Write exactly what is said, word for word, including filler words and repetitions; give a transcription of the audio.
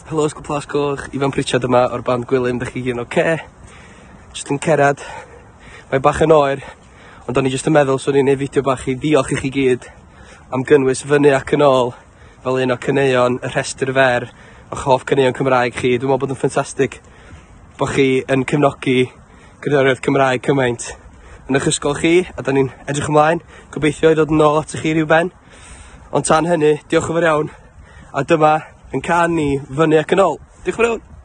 Helo Ysgol Plas Coch, Ifan Pritchard yma o'r band Gwilym, dych chi gyd yn oce? Jyst yn cerad, mae bach yn oer, ond o'n i jyst yn meddwl swn i'n neud fideo bach i ddiolch i chi gyd am gynnwys Fyny ac yn Ôl fel un o caneuon y rhestr fer o'ch hoff caneuon Cymraeg chi. Dwi'n meddwl bod yn ffantastig bod chi yn cefnogi cerddoriaeth Cymraeg cymaint yn eich ysgol chi, a da ni'n edrych ymlaen, gobeithio i ddod yn ôl atoch chi rhyw ben. Ond tan hynny, diolch yn fawr iawn, a dyma yn cân ni Fyny ac yn Ôl. Diolch yn fawr iawn.